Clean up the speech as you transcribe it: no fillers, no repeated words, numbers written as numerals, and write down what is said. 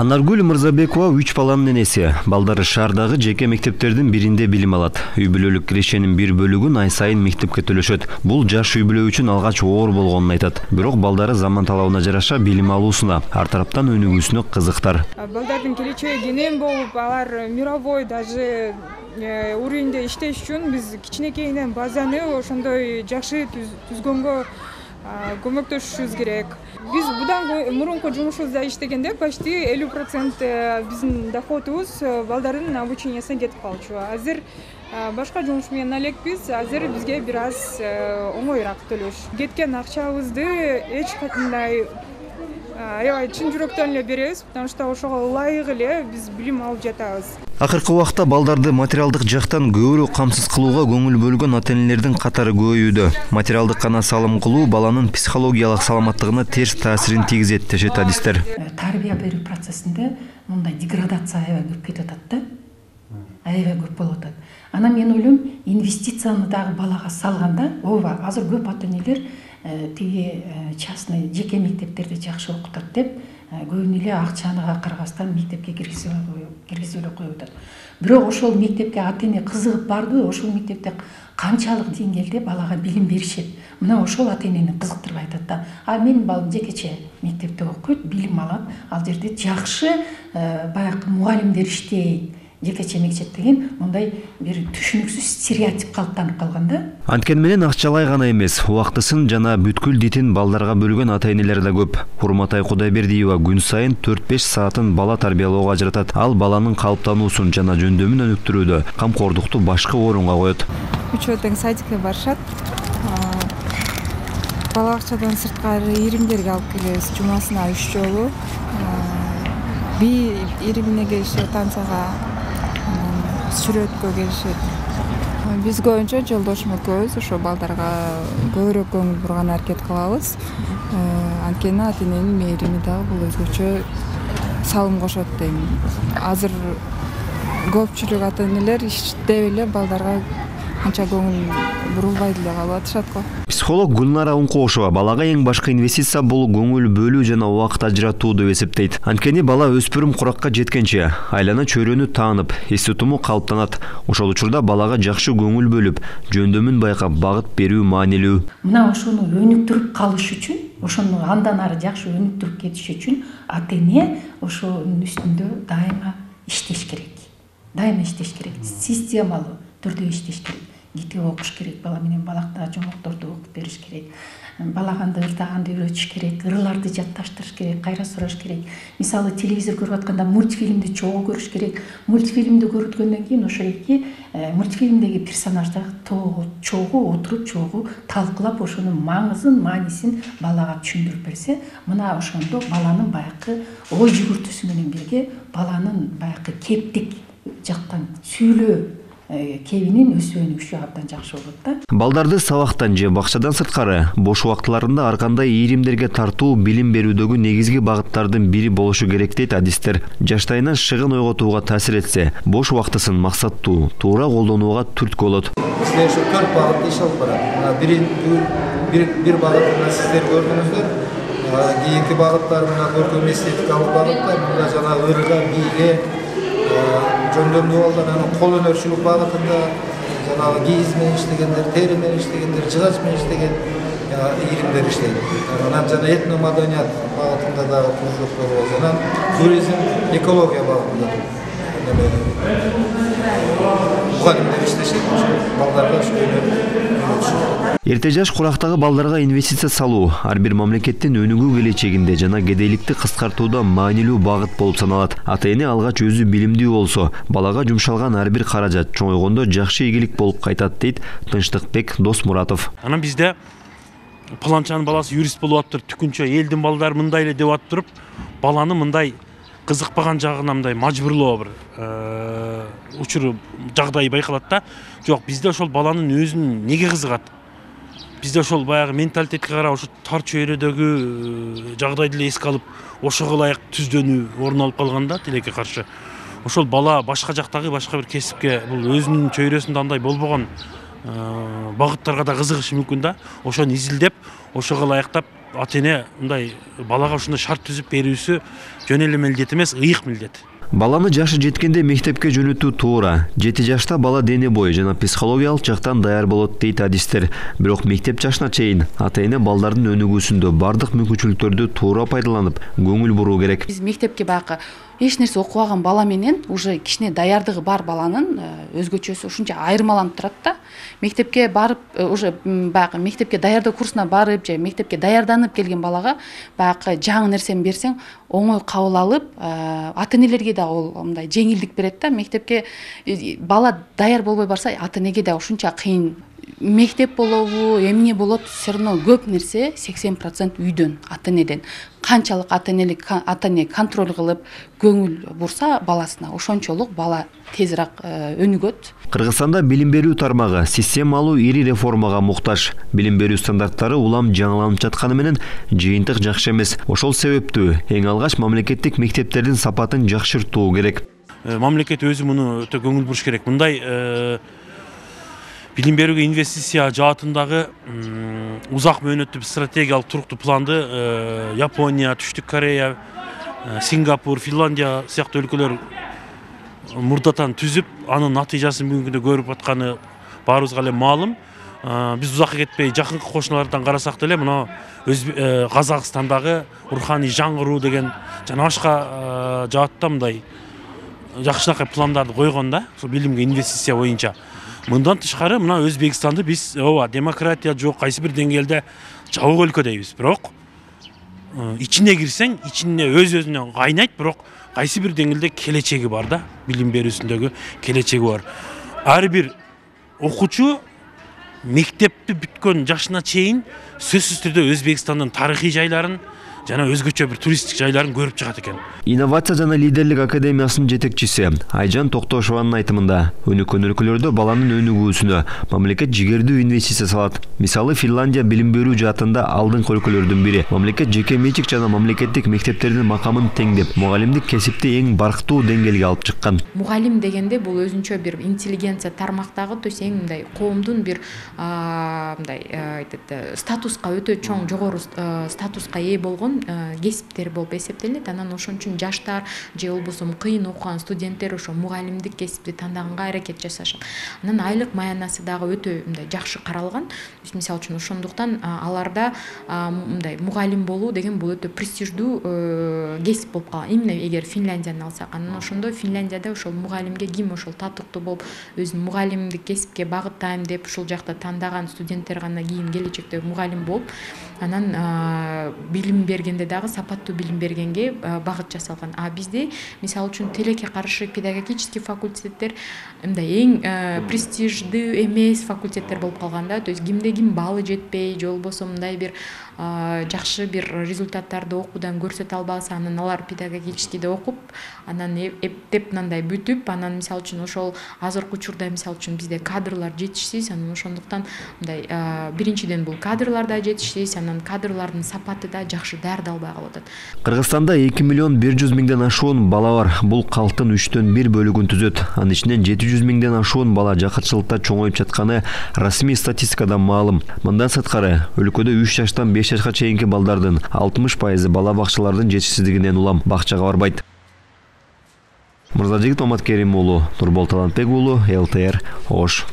Анаргүл Мырзабекова 3 баланын энеси. Балдары шаардагы жеке мектептердин биринде билим алат. Үй бүлөлүк кирешенин бир бөлүгүн ай сайын мектепке төлөшөт. Бул жаш үй бүлө үчүн алгач оор болгонун айтат. Бирок балдары заман талабына жараша билим алуусуна, ар тараптан өнүгүүсүнө кызыктар. Балдардын келечеги кенен болуп, алар мировой даже уровеньде иштеш үчүн биз кичинекейинен базаны ошондой жакшы түзгөнгө көмөктөшүшүбүз керек. Биз будан мурунку жумушубузда иштегенде почти 50% биздин доходубуз балдардын обучениясына кетип калчу. Азыр башка жумуш менен элекпиз. Азыр бизге бир аз оңоюраак төлөш. Кеткен акчабызды эч кандай аябай чын жүрөктөн эле беребиз, потому что ошого ылайык эле биз билим алып жатабыз. Акыркы убакта балдарды материалдык жактан көбүрөөк камсыз кылууга көңүл бөлгөн ата-энелердин катары көбөйүүдө. Материалдык гана салым кылуу баланын психологиялык саламаттыгына терс таасирин тийгизет дешет адистер. Тарбия берүү процессинде мындай деградация аябай көп кетип атат да. Аябай көп болуп атат. Анан мен ойлойм, инвестицияны дагы балага салганда, ооба, азыр көп ата-энелер тиги частный жеке мектептерде жакшы окутат деп көбүнө эле акчаны карабастан мектепке киргизип эле коюп атат. Бирок ошол мектепке ата-эне кызыгып барды, ошол мектепте канчалык деңгээлде балага билим беришет. Мына ошол ата-энени кызыктырбай атат да. Менин балам жекече мектепте окуйт, билим алат, ал жерде жакшы баягы мугалимдер иштейт. Жекече мектеп деген мындай бир түшүнүксүз стереотип калыптанып калган да. Анткени менен акчалай гана эмес, убактысын жана бүткүл дитин балдарга бөлгөн ата-энелер да көп. Курматай Кудайбердиева күн сайын 4-5 саатын бала тарбиялоого ажыратат. Ал баланын калыптануусун жана жөндөмүн өнүктүрүүдө камкордукту башкы орунга коет. Үчөө тең садикке барышат. Бала акчадан сырткары иримдерге алып келебиз, жумасына 3 жолу. Би иримине келишет, танцага сүрөткө келишет. Биз көбүнчө жолдошум экөөбүз ошо балдарга көбүрөөк көңүл бурган аракет кылабыз. Анткени ата-эненин мээрими дагы бул өзгөчө салым кошот дейм. Азыр көпчүлүк ата-энелер иштеп эле балдарга канча көңүл бурулбай деле калып атышат го. Психолог Гүлнара Ункошова балага эң башкы инвестиция бул көңүл бөлүү жана убакыт ажыратуу деп эсептейт. Анткени бала өспүрүм куракка жеткенче айлана чөйрөнү таанып, эс тутуму калыптанат. Ошол учурда балага жакшы көңүл бөлүп, жөндөмүн байкап багыт берүү маанилүү. Мына ошону өнүктүрүп калыш үчүн, ошону андан ары жакшы өнүктүрүп кетиш үчүн ата-эне ошонун үстүндө дайыма иштеш керек. Дайыма иштеш керек. Системалуу түрдө иштеш керек. Китеп окуш керек, бала менен балакта жомокторду окуп бериш керек. Балаганды ырдаганды үйрөтүш керек, ырларды жатташтырыш керек, кайра сураш керек. Мисалы телевизор көрүп атканда мультфильмди чогуу көрүш керек. Мультфильмди көрүткөндөн кийин ошо эки мультфильмдеги персонаждар чогуу отуруп, чогуу талкуулап ошонун маңызын, маанисин балага түшүндүрүп берсе, мына ошондо баланын баягы ой жүгүртүүсү менен бирге баланын баягы кептик жактан сүйлөө кебинин өсүп өнүгүшү абдан жакшы болот да. Балдарды сабактан же бакчадан сырткары бош убактыларында ар кандай ийримдерге тартуу билим берүүдөгү негизги багыттардын бири болушу керек дейт адистер. Жаштайынан шыгын ойготууга таасир этсе, бош убактысын максаттуу, туура колдонууга түрткү болот. Сиздер ушу 4 багытты иш алып барат. Бир багытын сиздер көрдүңүздөр. Кийинки багыттар мына көркөм эстетикалык багытта, мында жана ырга, бийге жөндөмдүү балдар, кол өнөрчүлүк багытында жанагы кийиз менен иштегендер, тери менен иштегендер, жыгач менен иштеген ийримдер иштейт. Анан жана этно маданият багытында дагы кружоктор болот. Анан туризм, экология багытында мугалимдер иштешет. Балдарга Эрте жаш курактагы балдарга инвестиция салуу ар бир мамлекеттин өнүгүү келечегинде жана кедейликти кыскартууда маанилүү багыт болуп саналат. Ата-эне алгач өзү билимдүү болсо, балага жумшалган ар бир каражат чоңойгондо жакшы ийгилик болуп кайтат дейт Тынчтыкбек Досмуратов. Анан бизде паланчанын баласы юрист болуп атыптыр, түкүнчө элдин балдары мындай эле деп атып, баланы мындай кызыкпаган жагына мындай мажбурлоо бир учуру жагдай байкалат да. Жок, бизде ошол баланын өзүн неге кызыгат? Бизде ошол баягы менталитетке карап ошо тар чөйрөдөгү жагдайды эле эске алып, ошого ылайык түздөнүү орун алып калган да тилекке каршы. Ошол бала башка жактагы башка бир кесипке бул өзүнүн чөйрөсүндө андай болбогон багыттарга да кызыгышы мүмкүн да. Ошону изилдеп, ошого ылайыктап ата эне мындай балага ушундай шарт түзүп берүүсү жөн эле милдет эмес, ыйык милдет. Баланы жашы жеткенде мектепке жөнөтүү туура. 7 жашта бала дене бою жана психологиялык жактан даяр болот дейт адистер. Бирок мектеп жашына чейин ата эне балдардын өнүгүүсүндө бардык мүмкүнчүлүктөрдү туура пайдаланып, көңүл буруу керек. Биз мектепке баягы эч нерсе окубаган бала менен уже кичине даярдыгы бар баланын өзгөчөсү ушунча айырмаланып турат да. Мектепке барып, уже баягы мектепке даярдоо курсуна барып же мектепке даярданып келген балага баягы жаңы нерсени берсең оңой кабыл алып, ата энелерге да ол мындай жеңилдик берет да. Мектепке бала даяр болбой барса, ата энеге да ушунча кыйын. Мектеп болобу, эмне болот, все равно көп нерсе 80% үйдөн, ата энеден. Канчалык ата эне контроль кылып, көңүл бурса баласына, ошончолук бала тезирээк өнүгөт. Кыргызстанда билим берүү тармагы системалуу ири реформага муктаж. Билим берүү стандарттары улам жаңыланып жатканы менен жыйынтык жакшы эмес. Ошол себептүү эң алгач мамлекеттик мектептердин сапатын жакшыртуу керек. Мамлекет өзү муну өтө көңүл буруш керек. Мындай билим берүүгө инвестиция жаатындагы узак мөөнөттүү стратегиялык туруктуу планды Япония, Түштүк Корея, Сингапур, Финляндия сыяктуу өлкөлөр мурдатан түзүп, анын натыйжасын бүгүнкү күндө көрүп атканы баарыбызга эле маалым. Биз узакка кетпей жакынкы кошуналардан карасак деле мына Казакстандагы руханий жаңыруу деген жана башка жаатта мындай жакшынакай пландарды койгон да, ошо билимге инвестиция боюнча. Мындан тышкары мына Өзбекстанды биз демократия жок, кайсы бир деңгээлде жабык өлкө дейбиз. Бирок ичине кирсең, ичине өз-өзүнөн кайнайт, бирок кайсы бир деңгээлде келечеги бар да, билим берүүсүндөгү келечеги бар. Ар бир окуучу мектепти бүткөн жашына чейин сөзсүз түрдө Өзбекстандын тарыхый жайларын жана өзгөчө бир туристтик жайларын көрүп чыгат экен. Инновация жана лидерлик академиясынын жетекчиси Айжан Токтошованын айтымында, өнүккөн өлкөлөрдө баланын өнүгүүсүнө мамлекет жигердүү инвестиция салат. Мисалы, Финляндия билим берүү жаатында алдыңкы өлкөлөрдүн бири. Мамлекет жеке менчик жана мамлекеттик мектептердин макамын теңдеп, мугалимдик кесипти эң барктуу деңгээлге алып чыккан. Мугалим дегенде бул өзүнчө бир интеллигенция тармактагы, то есть эң мындай коомдун бир мындай статуска өтө чоң, жогору статуска ээ болгон кесиптер болуп эсептелинет. Анан ошон үчүн жаштар же болбосо кыйын окуган студенттер ошо мугалимдик кесипти тандаганга аракет жасашат. Анан айлык маянасы дагы өтө мындай жакшы каралган. Мисалы үчүн ошондуктан аларда мындай мугалим болуу деген бул өтө престиждүү кесип болуп калган. Именно эгер Финляндияны алсак, анан ошондо Финляндияда ошол мугалимге ким ошол татыктуу болуп өзүн мугалимдик кесипке багыттайм деп ушул жакта тандаган студенттер гана кийин келечекте мугалим болуп, анан билим бергенде дагы сапаттуу билим бергенге багыт жасалган. А бизде мисалы үчүн тилекке каршы педагогический факультеттер мындай эң престиждүү эмес факультеттер болуп калган да. То есть кимде ким баалы жетпей, же болбосо мындай бир жакшы бир результаттарды окуудан көрсөтө албаса, анан алар педагогическийде окуп, анан эптеп мындай бүтүп, анан мисалы үчүн ошол азыркы учурда мисалы үчүн бизде кадрлар жетишсиз, анан ошондуктан мындай биринчиден бул кадрлар да жетишсиз, анан кадрлардын сапаты да жакшы даярдалбай калып атат. Кыргызстанда 2.100.000 ашуун бала бар. Бул калктын 3/4 бөлүгүн түзөт. Анын ичинен 700.000 ашуун бала жакырчылыкта чоңоюп жатканы расмий статистикадан маалым. Мындан сырткары, өлкөдө 3 жаштан 5 жашка чейинки балдардын 60% бала бакчалардын жетишсиздигинен улам бакчага барбайт. Мырзажигит Оматкерим уулу, Нурбол Талантбек уулу, ЛТР, Ош.